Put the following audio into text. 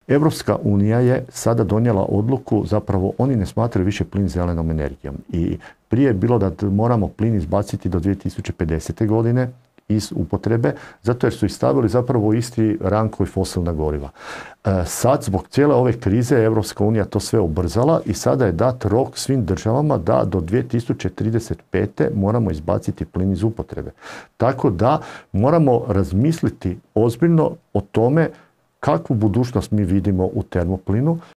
Europska unija je sada donijela odluku, zapravo oni ne smatraju više plin zelenom energijom. I prije je bilo da moramo plin izbaciti do 2050. godine iz upotrebe, zato jer su ih stavili zapravo u isti rang koji fosilna goriva. Sad, zbog cijele ove krize, Europska unija to sve ubrzala i sada je dat rok svim državama da do 2035. moramo izbaciti plin iz upotrebe. Tako da moramo razmisliti ozbiljno o tome kakvu budućnost mi vidimo u termoplinu.